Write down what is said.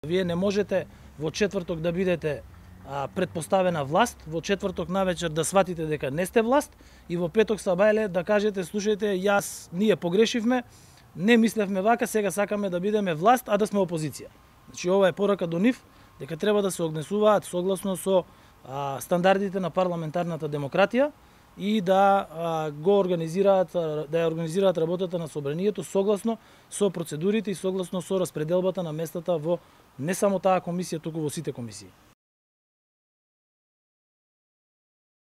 Вие не можете во четврток да бидете предпоставена власт, во четврток навечер да сватите дека не сте власт и во петок сабајле да кажете слушајте, ние погрешивме, не мислевме вака, сега сакаме да бидеме власт, а да сме опозиција. Значи ова е порака до нив дека треба да се однесуваат согласно со стандардите на парламентарната демократија и да ја организираат работата на собранието согласно со процедурите и согласно со распределбата на местата во не само таа комисија, туку во сите комисии.